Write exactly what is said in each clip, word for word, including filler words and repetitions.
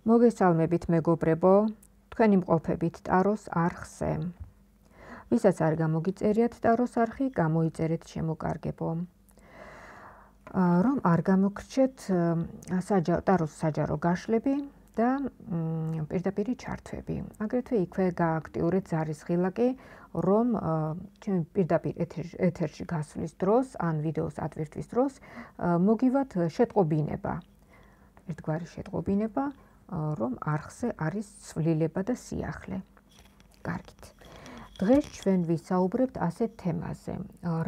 მოგესალმებით მეგობრებო, თქვენი მყოფებით ტაროს არხზე. ვისაც არ გამოგიწერიათ ტაროს არხი, გამოიწერეთ შემოკარგებო. რომ არ გამოგრჩეთ ტაროს საჯარო გაშლები და პირდაპირი ჩართვები. აგრეთვე იქვე გააქტიურეთ ზარისხილაკი, რომ ჩემი პირდაპირ ეთერში გასვლის დროს, ან ვიდეოს ატვირთვის დროს მოგივათ შეტყობინება. ერთგვარი შეტყობინება, რომ არხზე არის ცვლილება და სიახლე. კარგით. დღეს ჩვენ ვისაუბრებთ ასეთ თემაზე.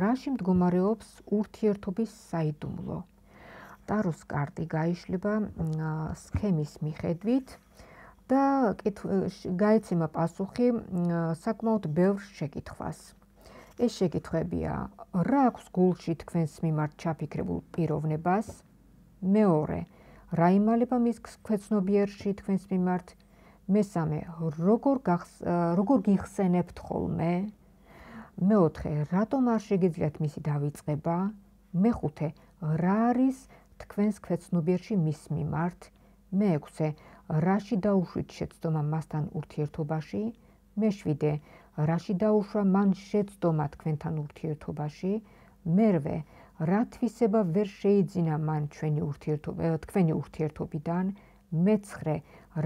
რაში მდგომარეობს ურთიერთობის საიდუმლო? ტაროს კარტი გაიშლება სქემის მიხედვით და გაეცემა პასუხი საკმაოდ ბევრ შეკითხვას. ეს შეკითხვებია: რა აქვს გულში თქვენს მიმართ ჩაფიქრებულ პიროვნებას? მეორე, რა იმალება მის ქვეცნობიერში თქვენს მიმართ? მესამე, როგორ როგორ გიხსენებთ ხოლმე? მეოთხე, რატომ არ შეგიძლიათ მისი დავიწყება? მეხუთე, რა არის თქვენს ქვეცნობიერში მის მიმართ? მეექვსე, რაში დაუშვით შეცდომა მასთან ურთიერთობაში? მეშვიდე, რაში დაუშვა მან შეცდომა თქვენთან ურთიერთობაში? მერვე, რა თვისება ვერ შეიძინა მან ჩვენი ურთიერთობა თქვენი ურთიერთობიდან? მეცხრე,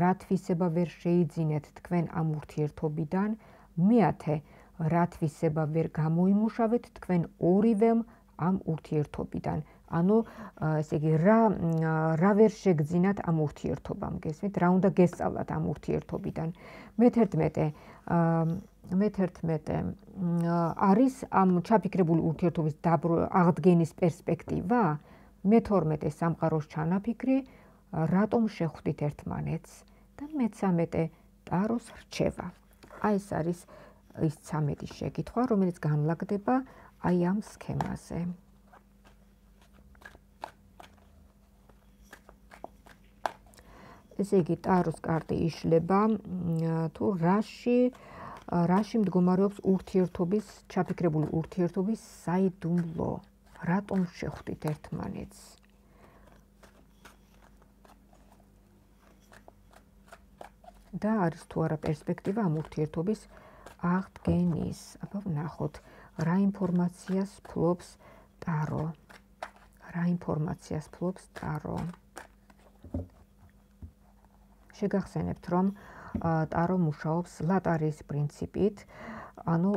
რა თვისება ვერ შეიძინეთ თქვენ ამ ურთიერთობიდან? მეათე, რა თვისება ვერ გამოიმუშავეთ თქვენ ორივემ ამ ურთიერთობიდან? ანუ ესე იგი რა რა ვერ შეგძინათ ამ ურთიერთობამ, გესმით? რა უნდა გესწავლათ ამ ურთიერთობიდან? მეთერთმეტე მეთერთმეტე არის ამ ჩაფიქრებული ურთიერთობის აღდგენის პერსპექტივა? მეთორმეტე, სამყაროს ჩანაფიქრი, რატომ შეხვდით ერთმანეთს? და მეცამეტე, ტაროს რჩევა. აი ეს არის ის ცამეტი შეკითხვა, რომელიც განლაგდება აი ამ სქემაზე. ესე იგი, ტაროს კარტი იშლება თუ რაში რაში მდგომარეობს ურთიერთობის, ჩაფიქრებული ურთიერთობის საიდუმლო? რატომ შეხვდით ერთმანეთს? და არის თუ არა პერსპექტივა ამ ურთიერთობის აღდგენის? აბა ვნახოთ, რა ინფორმაციას ფლობს ტარო? რა ინფორმაციას ფლობს ტარო? შეგახსენებთ, რომ ტარო მუშაობს ლატარიის პრინციპით, ანუ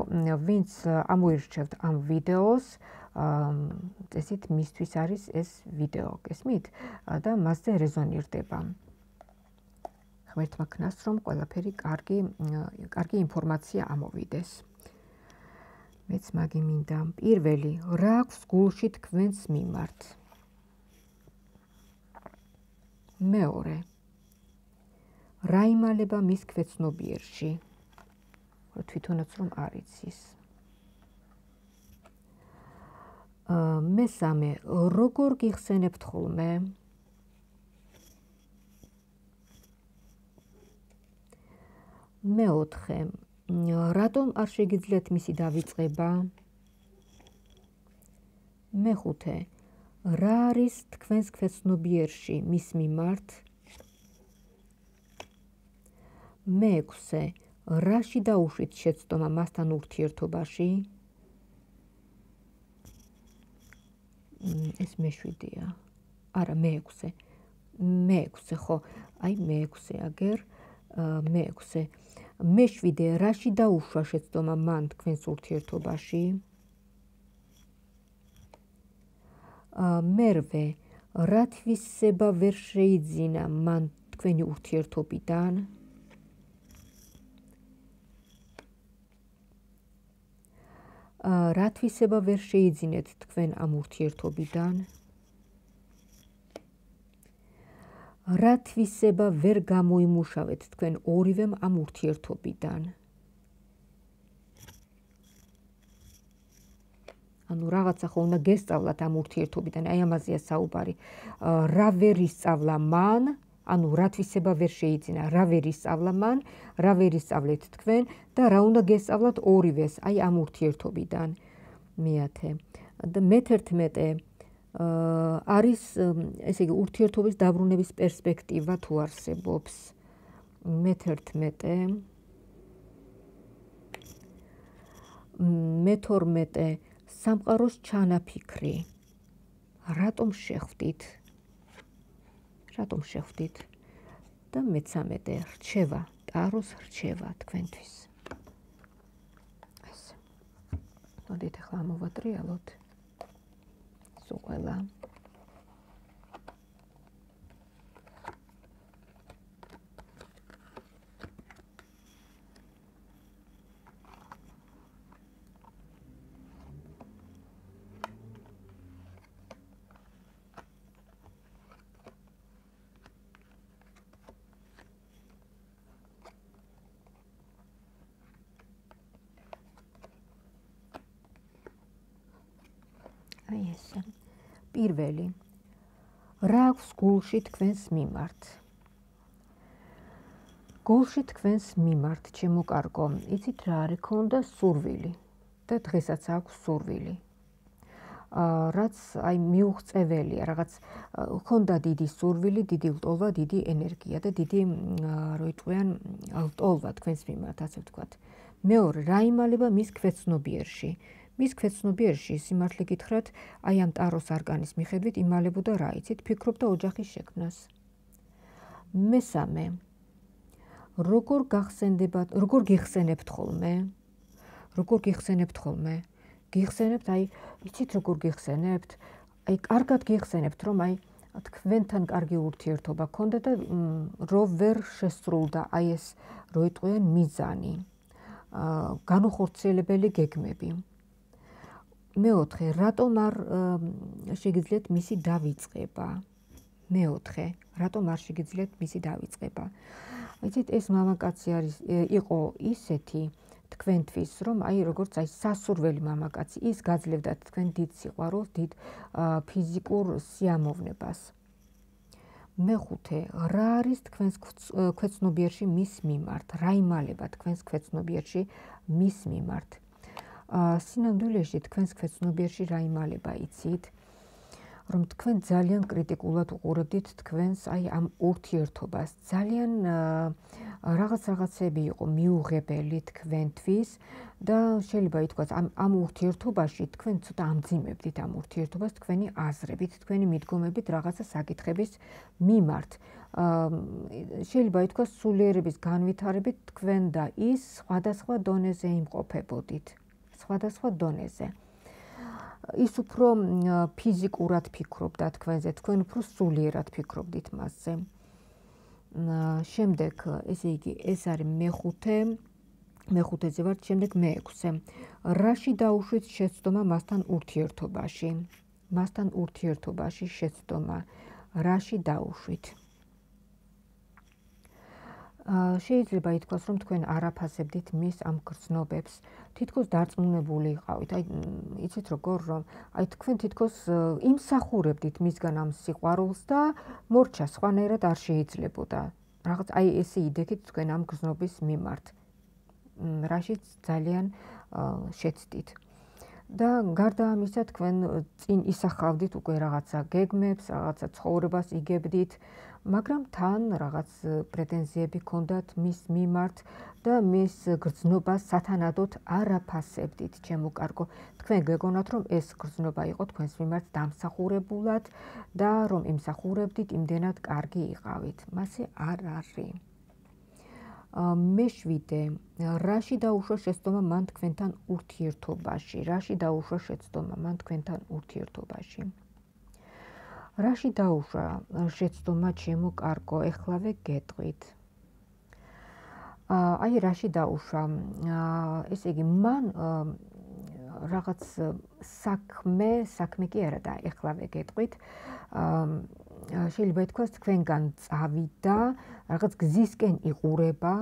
ვინც ამოირჩევთ ამ ვიდეოს, ესეთ მისთვის არის ეს ვიდეო, გესმით? და მასზე რეზონირდება. ღმერთმა ქნას, რომ ყველაფერი კარგი კარგი ინფორმაცია ამოვიდეს. მეც მაგი მინდა. პირველი, რა აქვს გულში თქვენს მიმართ? მეორე, რა იმალება მის ქვეცნობიერში? თვითონაც რომ არ იცის. მესამე, როგორ გიხსენებთ ხოლმე? მეოთხე, რატომ არ შეგიძლიათ მისი დავიწყება? მეხუთე, რა არის თქვენს ქვეცნობიერში მის მიმართ? მეექვსე, რაში დაუშვით შეცდომა მასთან ურთიერთობაში? ეს მეშვიდეა. არა, მეექვსე. მეექვსე, ხო, აი მეექვსე აგერ, მეექვსე. მეშვიდე, რაში დაუშვა შეცდომა მან თქვენს ურთიერთობაში? მერვე, რა თვისება ვერ შეიძინა მან თქვენი ურთიერთობიდან? რა თვისება ვერ შეიძინეთ თქვენ ამ ურთიერთობიდან? რა თვისება ვერ გამოიმუშავეთ თქვენ ორივემ ამ ურთიერთობიდან? ანუ რაღაცა ხო უნდა გესწავლათ ამ ურთიერთობიდან, აი ამაზეა საუბარი. რა ვერ ისწავლა მან, ანუ რა თვისება ვერ შეიძინა, რა ვერ ისწავლა მან, რა ვერ ისწავლეთ თქვენ და რა უნდა გესწავლათ ორივეს, აი ამ ურთიერთობიდან. მეათე და მეთერთმეტე, არის ესე იგი ურთიერთობის დაბრუნების პერსპექტივა თუ არსებობს. მეთერთმეტე მეთორმეტე სამყაროს ჩანაფიქრი. რატომ შეხვდით? რატომ შეხვდით? და მეცამეტე რჩევა, ტაროს რჩევა თქვენთვის. ეს. მოდით ახლა მოვატრიალოთ. სულ ყველა. აი ესე. პირველი. რა აქვს გულში თქვენს მიმართ? გულში თქვენს მიმართ, ჩემო კარგო, იცით რა არის? ქონდა სურვილი და დღესაც აქვს სურვილი. რაც აი მიუღწეველია, რაღაც ქონდა დიდი სურვილი, დიდი ლტოლვა, დიდი ენერგია და დიდი რო იტყვიან ლტოლვა თქვენს მიმართ, ასე ვთქვათ. მეორე, რა იმალება მის ქვეცნობიერში? მის ქვეცნობიერში სიმართლე გითხრათ, აი ამ ტაროს არკანის მიხედვით იმალებოდა რა იცით, ფიქრობდა ოჯახის შექმნას. მესამე, როგორ გახსენდებათ, როგორ გიხსენებთ ხოლმე? როგორ გიხსენებთ ხოლმე? გიხსენებთ, აი, იცით როგორ გიხსენებთ? აი, კარგად გიხსენებთ, რომ აი თქვენთან კარგი ურთიერთობა გქონდა და რო ვერ შესრულდა აი ეს რო იტყვიან მიზანი. განუხორციელებელი გეგმები. მეოთხე, რატომ არ შეგიძლიათ მისი დავიწყება? მეოთხე, რატომ არ შეგიძლიათ მისი დავიწყება? იცით, ეს მამაკაცი არის იყო ისეთი თქვენთვის, რომ აი როგორც აი სასურველი მამაკაცი, ის გაძლევდა თქვენ დიდ სიყვარულს, დიდ ფიზიკურ სიამოვნებას. მეხუთე, რა არის თქვენს ქვეცნობიერში მის მიმართ? რა იმალება თქვენს ქვეცნობიერში მის მიმართ? სინამდვილეში თქვენს ქვეცნობიერში რა იმალება იცით? რომ თქვენ ძალიან კრიტიკულად უყურებდით თქვენს აი ამ ურთიერთობას. ძალიან რაღაც რაღაცები იყო მიუღებელი თქვენთვის და შეიძლება ითქვას ამ ამ ურთიერთობაში თქვენ ცოტა ამძიმებდით ამ ურთიერთობას თქვენი აზრებით, თქვენი მიდგომებით რაღაცა საკითხების მიმართ. შეიძლება ითქვას სულიერების განვითარებით თქვენ და ის სხვადასხვა დონეზე იმყოფებოდით. სხვადასხვა დონეზე. ის უფრო ფიზიკურად ფიქრობდა თქვენზე, თქვენ უფრო სულიერად ფიქრობდით მასზე. შემდეგ, ესე იგი, ეს არის მეხუთე, მეხუთეზე ვართ, შემდეგ მეექვსე. რაში დაუშვით შეცდომა მასთან ურთიერთობაში? მასთან ურთიერთობაში შეცდომა. რაში დაუშვით? შეიძლება ითქვას, რომ თქვენ არ აფასებდით მის ამ გრძნობებს. თითქოს დარწმუნებული იყავით. აი, იცით როგორ, რომ აი თქვენ თითქოს იმსახურებდით მისგან ამ სიყვარულს და მორჩა სხვანაირად არ შეიძლებოდა. რაღაც აი ესე იდექით თქვენ ამ გრძნობის მიმართ. რაშიც ძალიან შეცდით. და გარდა ამისა თქვენ წინ ისახავდით უკვე რაღაცა გეგმებს, რაღაცა ცხოვრებას იგებდით, მაგრამ თან რაღაც პრეტენზიები ჰქონდათ მის მიმართ და მის გრძნობას სათანადოდ არ აფასებდით, ჩემო კარგო. თქვენ გეგონათ, რომ ეს გრძნობა იყო თქვენს მიმართ დამსახურებულად და რომ იმსახურებდით, იმდენად კარგი იყავით. მასე არ არის. მეშვიდე, რაში დაუშვა შეცდომა მან თქვენთან ურთიერთობაში? რაში დაუშვა შეცდომა მან თქვენთან ურთიერთობაში? რაში დაუშვა შეცდომა, ჩემო კარგო, ეხლავე გეტყვით. აი, რაში დაუშვა? ესე იგი, მან რაღაც საქმე, საქმე კი არა და ეხლავე გეტყვით. შეიძლება ითქვას, თქვენგან წავიდა, რაღაც გზისკენ იყურება,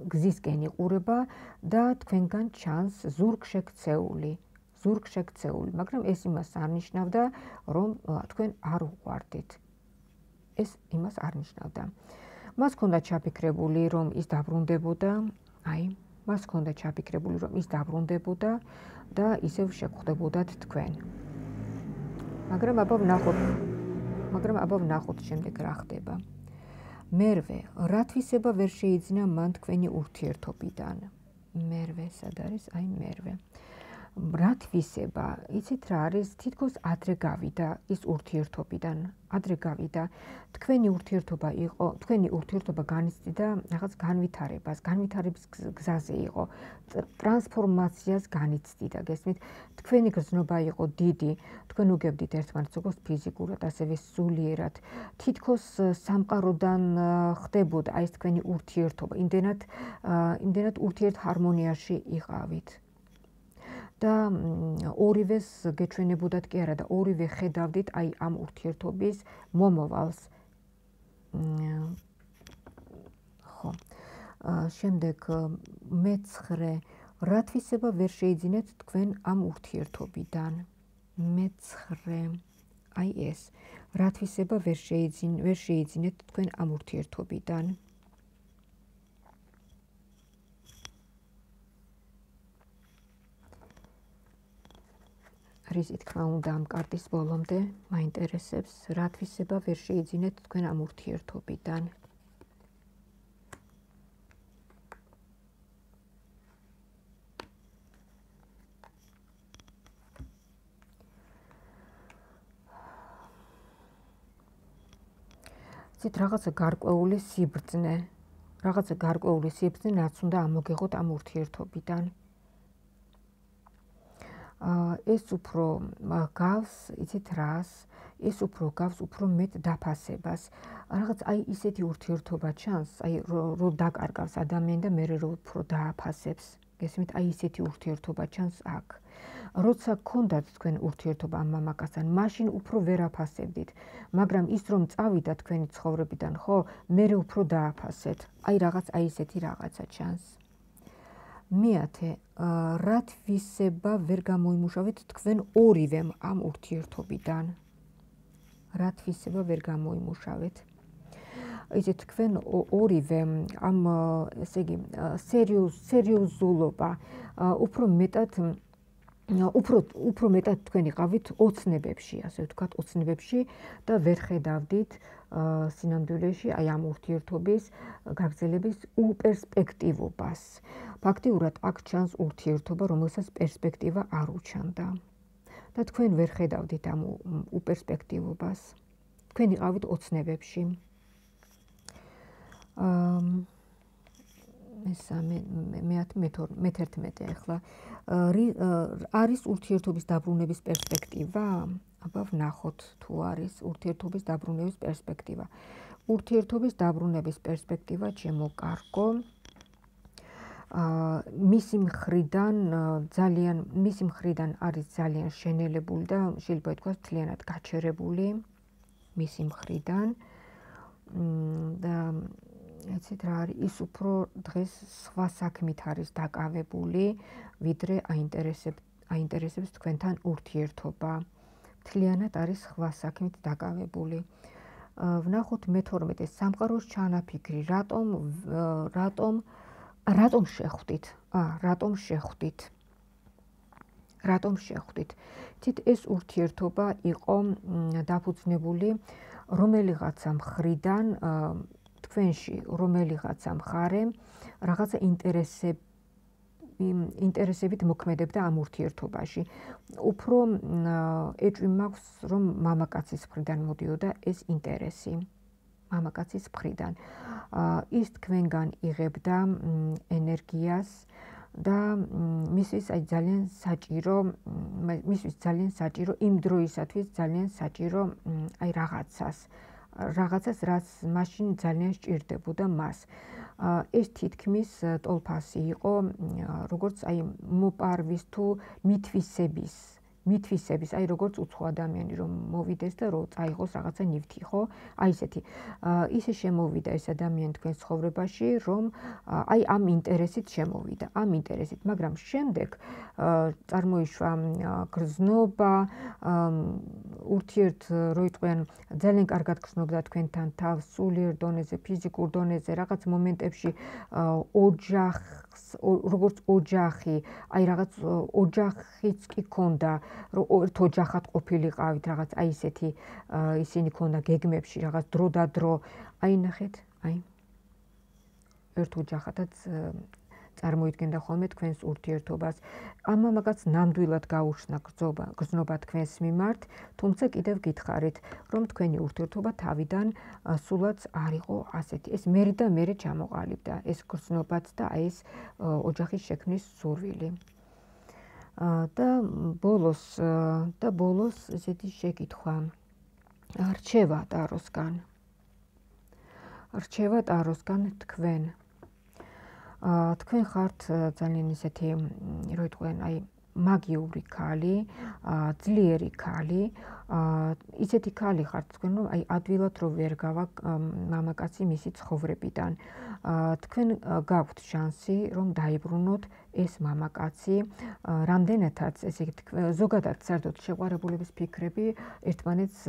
გზისკენ იყურება და თქვენგან ჩანს ზურგშექცეული. ზურგშექცეული, მაგრამ ეს იმას არ ნიშნავდა, რომ თქვენ არ უყვარდით. ეს იმას არ ნიშნავდა. მას ჰქონდა ჩაფიქრებული, რომ ის დაბრუნდებოდა, აი, მას ჰქონდა ჩაფიქრებული, რომ ის დაბრუნდებოდა და ისევ შეგხვდებოდათ თქვენ. მაგრამ აბა ვნახოთ მაგრამ აბა ვნახოთ შემდეგ რა ხდება. მერვე, რა თვისება ვერ შეიძინა მან თქვენი ურთიერთობიდან? მერვე, სად არის? აი მერვე. რა თვისება, იცით რა არის? თითქოს ადრე გავიდა ის ურთიერთობიდან. ადრე გავიდა. თქვენი ურთიერთობა იყო, თქვენი ურთიერთობა განიცდიდა რაღაც განვითარებას, განვითარების გზაზე იყო. ტრანსფორმაციას განიცდიდა, გესმით? თქვენი გრძნობა იყო დიდი. თქვენ უგებდით ერთმანეთს როგორც ფიზიკურად, ასევე სულიერად. თითქოს სამყაროდან ხდებოდა აი ეს თქვენი ურთიერთობა. იმდენად იმდენად ურთიერთ ჰარმონიაში იყავით. და ორივეს გეჩვენებოდათ კი არა და ორივე ხედავდით აი ამ ურთიერთობის მომავალს. ხო. შემდეგ მეცხრე, რა თვისება ვერ შეიძინეთ თქვენ ამ ურთიერთობიდან? მეცხრე, აი ეს, რა თვისება ვერ შეიძინ ვერ შეიძინეთ თქვენ ამ ურთიერთობიდან? რისი თქმა უნდა ამ კარტის ბოლომდე მაინტერესებს, რა თვისება ვერ შეიძინეთ თქვენ ამ ურთიერთობიდან? ცით რაღაცა გარკვეული სიბრძნე, რაღაცა გარკვეული სიბრძნე რაც უნდა ამოგეღოთ ამ ურთიერთობიდან. ეს უფრო გავს, იცით რას? ეს უფრო გავს უფრო მეტ დაფასებას. რაღაც აი ისეთი ურთიერთობა ჩანს, აი რო დაკარგავს ადამიანი და მერე რო უფრო დააფასებს. გესმით, აი ისეთი ურთიერთობა ჩანს აქ. როცა გქონდათ თქვენ ურთიერთობა ამ მამაკაცთან, მაშინ უფრო ვერ აფასებდით, მაგრამ ის რომ წავიდა თქვენი ცხოვრებიდან, ხო, მერე უფრო დააფასეთ. აი რაღაც აი ისეთი რაღაცა ჩანს. მეათე, რა თვისება ვერ გამოიმუშავეთ თქვენ ორივემ ამ ურთიერთობიდან? რა თვისება ვერ გამოიმუშავეთ? იცით, თქვენ ორივე ამ, ესე იგი, სერიოზულობა უფრო მეტად უფრო უფრო მეტად თქვენ იყავით ოცნებებში, ასე ვთქვათ, ოცნებებში და ვერ ხედავდით სინამდვილეში აი ამ ურთიერთობის გაგრძელების უპერსპექტივობას. ფაქტიურად აქ ჩანს ურთიერთობა, რომელსაც პერსპექტივა არ უჩანდა. და თქვენ ვერ ხედავდით ამ უპერსპექტივობას. თქვენ იყავით ოცნებებში. მესამე, მეთერთმეტე ახლა არის ურთიერთობის დაბრუნების პერსპექტივა? აბა ვნახოთ თუ არის ურთიერთობის დაბრუნების პერსპექტივა. ურთიერთობის დაბრუნების პერსპექტივა ჩემო კარგო. მისი მხრიდან ძალიან მისი მხრიდან არის ძალიან შენელებული და შეიძლება ითქვას მთლიანად გაჩერებული მისი მხრიდან და იცით რა არის, ის უფრო დღეს სხვა საქმით არის დაკავებული, ვიდრე აინტერესებს თქვენთან ურთიერთობა. მთლიანად არის სხვა საქმით დაკავებული. ვნახოთ მეთორმეტე, სამყაროს ჩანაფიქრი, რატომ რატომ რატომ შეხვდით? რატომ შეხვდით? რატომ შეხვდით? თით ეს ურთიერთობა იყო დაფუძნებული რომელიღაცა მხრიდან თქვენში რომელიღაცა მხარე რაღაცა ინტერესები ინტერესებით მოქმედებდა ამ ურთიერთობაში. უფრო ეჭვი მაქვს, რომ მამაკაცის მხრიდან მოდიოდა ეს ინტერესი. მამაკაცის მხრიდან. ის თქვენგან იღებდა ენერგიას და მისთვის აი ძალიან საჭირო, მისთვის ძალიან საჭირო იმ დროისათვის ძალიან საჭირო აი რაღაცას. რაღაცას, რაც მაშინ ძალიან სჭირდებოდა მას. ეს თითქმის ტოლფასი იყო, როგორც აი მოპარვის თუ მითვისების, მითვისების, აი როგორც უცხო ადამიანი რომ მოვიდეს და რომ წაიღოს რაღაცა ნივთი, ხო? აი ესეთი. ისე შემოვიდა ეს ადამიანი თქვენ ცხოვრებაში, რომ აი ამ ინტერესით შემოვიდა, ამ ინტერესით, მაგრამ შემდეგ წარმოიშვა გრძნობა, ურთიერთ რო იყვიან ძალიან კარგად გრძნობდა თქვენთან თავს, სულიერ დონეზე, ფიზიკურ დონეზე, რაღაც მომენტებში ოჯახს, როგორც ოჯახი, აი რაღაც ოჯახიც კი ქონდა, რომ ერთ ოჯახად ყოფილიყავით, რაღაც აი ესეთი ისინი ქონდა გეგმებში, რაღაც დრო და დრო. აი ნახეთ, აი ერთ ოჯახადაც წარმოიდგენდა ხოლმე თქვენს ურთიერთობას. ამ მამაკაც ნამდვილად გაუჩნდა გრძობა, გრძნობა თქვენს მიმართ, თუმცა კიდევ გითხარით, რომ თქვენი ურთიერთობა თავიდან სულაც არ იყო ასეთი. ეს მერე და მერე ჩამოყალიბდა, ეს გრძნობაც და აი ეს ოჯახის შექმნის სურვილი. და ბოლოს და ბოლოს ესეთი შეკითხვა. რჩევა ტაროსგან. რჩევა ტაროსგან თქვენ. თქვენ ხართ ძალიან ისეთი, რო იტყვიან, აი მაგიური ქალი, ძლიერი ქალი, ისეთი ქალი ხართ თქვენ, რომ აი ადვილად რო ვერ გავა მამაკაცი მისი ცხოვრებიდან. თქვენ გაქვთ შანსი, რომ დაიბრუნოთ ეს მამაკაცი, რამდენადაც ესე ზოგადად საერთოდ შეყვარებულების ფიქრები ერთმანეთს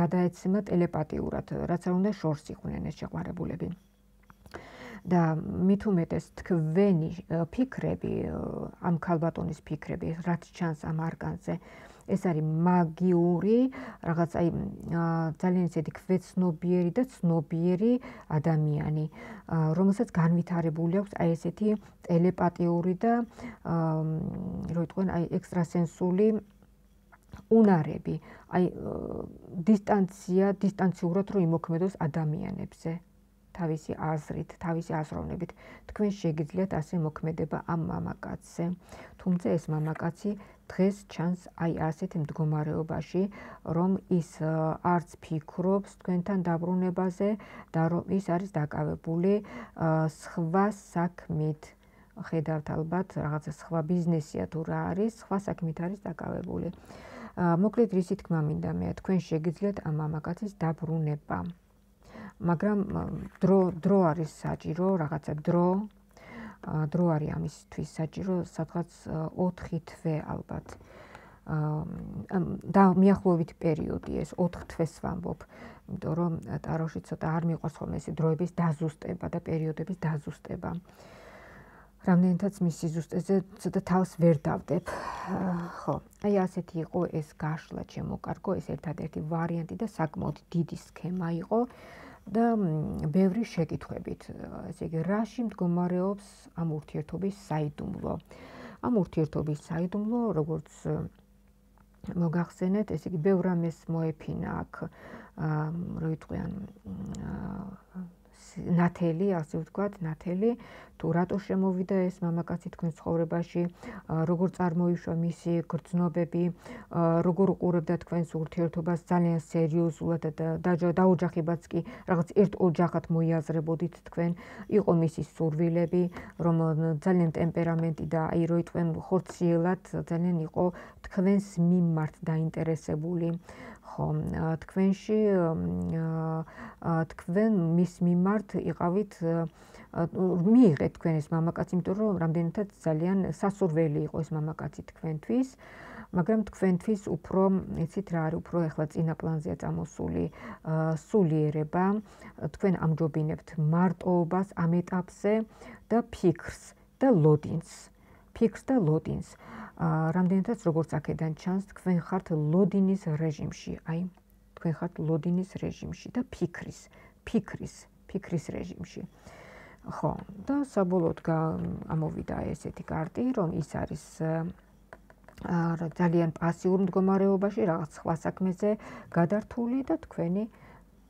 გადაეცემა ტელეპათიურად, რაც არ უნდა შორს იყვნენ ეს შეყვარებულები. და მით უმეტეს თქვენი ფიქრები, ამ ქალბატონის ფიქრები, რაც ჩანს ამ არკანზე, ეს არის მაგიური, რაღაც აი ძალიან ისეთი ქვეცნობიერი და ცნობიერი ადამიანი, რომელსაც განვითარებული აქვს აი ესეთი ტელეპათიური და რო იტყვიან, აი ექსტრასენსული უნარები, აი დისტანცია, დისტანციურად რო იმოქმედოს ადამიანებზე. თავისი აზრით, თავისი აზროვნებით, თქვენ შეგიძლიათ ასე მოქმედება ამ მამაკაცზე. თუმცა ეს მამაკაცი დღეს ჩანს აი ასეთ მდგომარეობაში, რომ ის არც ფიქრობს თქვენთან დაბრუნებაზე და რომ ის არის დაკავებული სხვა საქმით. ხედავთ ალბათ, რაღაცა სხვა ბიზნესია თუ რა არის, სხვა საქმით არის დაკავებული. მოკლედ რისი თქმა მინდა მე, თქვენ შეგიძლიათ ამ მამაკაცის დაბრუნება. მაგრამ დრო დრო არის საჭირო, რაღაცა დრო, დრო არის ამისთვის საჭირო, სადღაც ოთხი თვე ალბათ. და მიახლოებით პერიოდი ეს ოთხ თვეს ვამბობ, იმიტომ რომ ტაროში ცოტა არ მიყვარს ხოლმე ეს დროების დაზუსტება და პერიოდების დაზუსტება. რამდენადაც მის სიზუსტეზე ცოტა თავს ვერ დავდებ. ხო, აი ასეთი იყო ეს გაშლა ჩემო კარგო, ეს ერთადერთი ვარიანტი და საკმაოდ დიდი სქემა იყო. და ბევრი შეკითხვებით, ესე იგი, რაში მდგომარეობს ამ ურთიერთობის საიდუმლო. ამ ურთიერთობის საიდუმლო, როგორც მოგახსენეთ, ესე იგი, ბევრ რამეს მოეფინა აქ, რო იტყვიან, ნათელი, ასე ვთქვათ, ნათელი, თუ რატო შემოვიდა ეს მამაკაცი თქვენ ცხოვრებაში, როგორ წარმოიშვა მისი გრძნობები, როგორ უყურებდა თქვენს ურთიერთობას ძალიან სერიოზულად და დაოჯახებაც კი რაღაც ერთ ოჯახად მოიაზრებოდით თქვენ, იყო მისი სურვილები, რომ ძალიან ტემპერამენტი და აი რო იტყვიან ხორციელად ძალიან იყო თქვენს მიმართ დაინტერესებული. ხო, თქვენში თქვენ მის მიმართ იყავით მიიღეთ თქვენ ეს მამაკაცი, იმიტომ რომ რამდენადაც ძალიან სასურველი იყო ეს მამაკაცი თქვენთვის, მაგრამ თქვენთვის უფრო, იცით რა არის, უფრო ეხლა წინა პლანზეა წამოსული სულიერება, თქვენ ამჯობინებთ მარტოობას ამ ეტაპზე და ფიქრს და ლოდინს. ფიქრს და ლოდინს. რამდენადაც როგორც აქედან ჩანს, თქვენ ხართ ლოდინის რეჟიმში, აი, თქვენ ხართ ლოდინის რეჟიმში და ფიქრის, ფიქრის, ფიქრის რეჟიმში. ხო, და საბოლოოდ ამოვიდა ესეთი კარტი, რომ ის არის ძალიან პასიურ მდგომარეობაში, რაღაც სხვა საქმეზე გადართული და თქვენი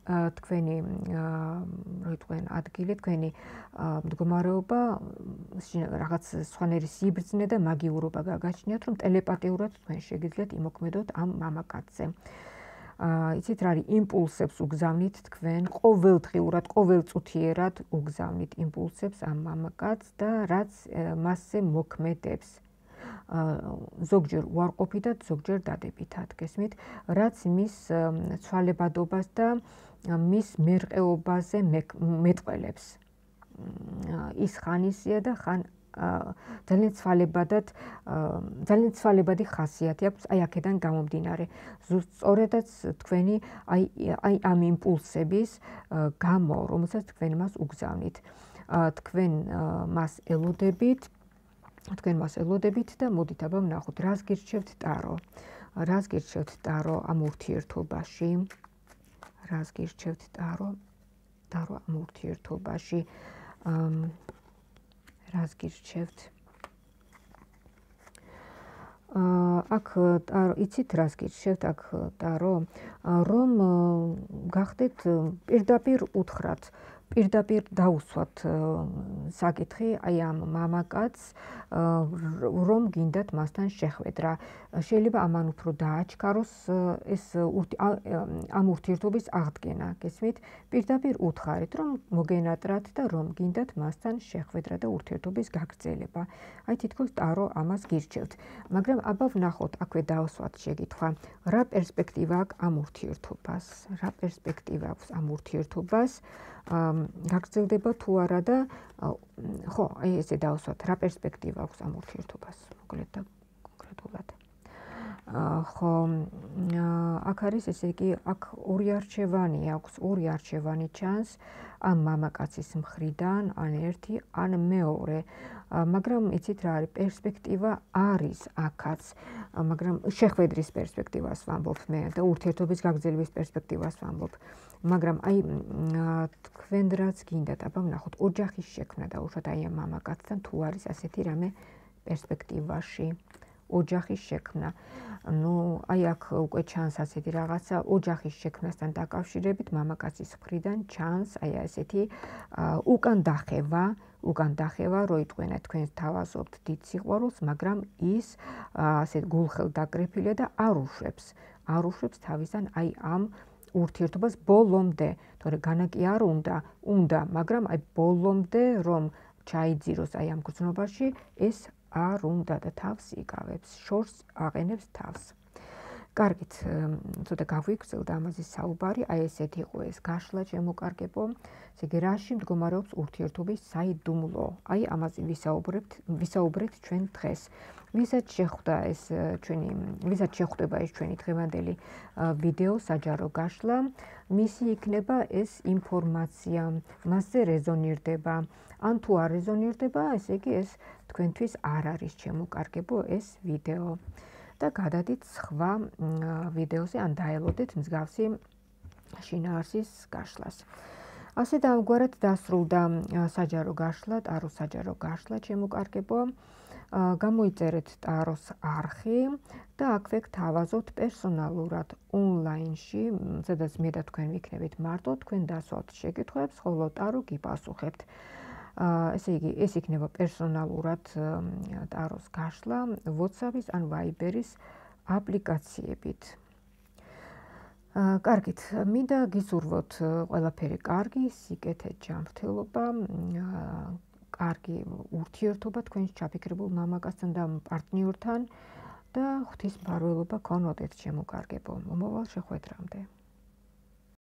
თქვენი რო იტყვიან ადგილი, თქვენი მდგომარეობა რაღაც სხვანაირი სიბრძნე და მაგიურობა გაგაჩნიათ, რომ ტელეპათიურად თქვენ შეგიძლიათ იმოქმედოთ ამ მამაკაცზე. იცით რა არის, იმპულსებს უგზავნით თქვენ, ყოველდღიურად, ყოველწუთიერად უგზავნით იმპულსებს ამ მამაკაცს და რაც მასზე მოქმედებს. ზოგჯერ უარყოფითად, ზოგჯერ დადებითად, გესმით, რაც მის ცვალებადობას და მის მერყეობაზე მეტყველებს. ის ხანისია და ხან ძალიან ცვალებადად, ძალიან ცვალებადი ხასიათი აქვს, აი აქედან გამომდინარე. სწორედაც თქვენი აი აი ამ იმპულსების გამო, რომელსაც თქვენ მას უგზავნით. თქვენ მას ელოდებით, თქვენ მას ელოდებით და მოდით აბა ვნახოთ, რას გირჩევთ ტარო. რას გირჩევთ ტარო ამ ურთიერთობაში? რას გირჩევთ ტარო? ტარო ამ ურთიერთობაში. რას გირჩევთ? აქ ტარო, იცით რას გირჩევთ აქ ტარო? რომ გახდეთ პირდაპირ უთხრათ, პირდაპირ დაუსვათ საკითხი აი ამ მამაკაცს, რომ გინდათ მასთან შეხვედრა. შეიძლება ამან უფრო დააჩქაროს ეს ამ ურთიერთობის აღდგენა, გესმით? პირდაპირ უთხარით, რომ მოგენატრათ და რომ გინდათ მასთან შეხვედრა და ურთიერთობის გაგრძელება. აი თითქოს ტარო ამას გირჩევთ. მაგრამ აბა ვნახოთ, აქვე დავსვათ შეკითხვა. რა პერსპექტივა აქვს ამ ურთიერთობას? რა პერსპექტივა აქვს ამ ურთიერთობას? გაგრძელდება თუ არა და ხო, აი ესე დავსვათ, რა პერსპექტივა აქვს ამ ურთიერთობას, მოკლედ და კონკრეტულად. ხო, აქ არის ესე იგი, აქ ორი არჩევანი აქვს, ორი არჩევანი ჩანს ამ მამაკაცის მხრიდან, ან ერთი, ან მეორე. მაგრამ იცით რა არის, პერსპექტივა არის აქაც, მაგრამ შეხვედრის პერსპექტივას ვამბობ მე და ურთიერთობის გაგრძელების პერსპექტივას ვამბობ. მაგრამ აი თქვენ რაც გინდათ, აბა ვნახოთ, ოჯახის შექმნა დაუშვათ აი ამ მამაკაცთან თუ არის ასეთი რამე პერსპექტივაში. ოჯახის შექმნა. ნუ აი აქ უკვე ჩანს ასეთი რაღაცა, ოჯახის შექმნასთან დაკავშირებით მამაკაცის მხრიდან ჩანს აი ასეთი უკან დახევა, უკან დახევა, რო იტყვენა თქვენ თავაზობთ დიდ სიყვარულს, მაგრამ ის ასე გულხელდაკრეფილია და არ უშვებს, არ უშვებს თავისთან აი ამ ურთიერთობას ბოლომდე, თორე განა კი არ უნდა, უნდა, მაგრამ აი ბოლომდე რომ ჩაიძიროს აი ამ გრძნობაში, ეს არ უნდა და თავს იკავებს, შორს აყენებს თავს. კარგით, ცოტა გაგვიგრძელდა ამაზე საუბარი, აი ესეთი იყო ეს გაშლა შემოკარგებო. ესე იგი, რაში მდგომარეობს ურთიერთობის საიდუმლო? აი ამაზე ვისაუბრებთ, ვისაუბრეთ ჩვენ დღეს. ვისაც შეხვდა ეს ჩვენი, ვისაც შეხვდება ეს ჩვენი დღევანდელი ვიდეო საჯარო გაშლა, მისი იქნება ეს ინფორმაცია, მასზე რეზონირდება. ან თუ არ რეზონირდება, ესე იგი ეს თქვენთვის არ არის შემოკარგებო ეს ვიდეო. და გადადით სხვა ვიდეოზე, ან დაელოდეთ მსგავსი შინაარსის გაშლას. ასე და ამგვარად დასრულდა საჯარო გაშლა, ტაროს საჯარო გაშლა შემოკარგებო. გამოიწერეთ ტაროს არხი და აქვე გთავაზობთ პერსონალურად ონლაინში, სადაც მე და თქვენ ვიქნებით მარტო, თქვენ დასვათ შეკითხვებს, ხოლო ტარო გიპასუხებთ. ესე იგი, ეს იქნება პერსონალურად ტაროს გაშლა WhatsApp-ის ან Viber-ის აპლიკაციებით. კარგით, მინდა გისურვოთ ყველაფერი კარგი, სიკეთე, ჯანმრთელობა, კარგი ურთიერთობა თქვენს ჩაფიქრებულ მამაკაცთან და პარტნიორთან და ღვთისმფარველობა გქონოდეთ შემოკარგებო. მომავალ შეხვედრამდე.